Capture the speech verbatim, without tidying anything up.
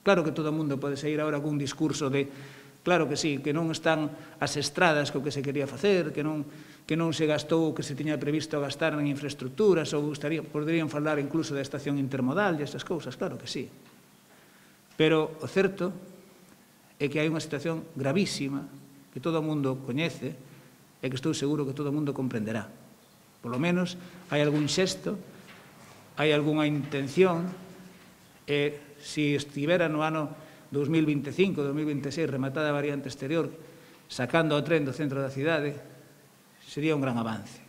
Claro que todo o mundo pode sair agora cun discurso de claro que sí, que non están as estradas co que se quería facer, que non, que non se gastou o que se tiña previsto gastar en infraestructuras, ou gustaría, poderían falar incluso da estación intermodal e estas cousas, claro que sí. Pero o certo é que hai unha situación gravísima que todo o mundo coñece e que estou seguro que todo o mundo comprenderá. Por lo menos hai algún xesto, hai algunha intención, e se estivera no ano dos mil vinte e cinco, dos mil vinte e seis, rematada a variante exterior, sacando o tren do centro da cidade, sería un gran avance.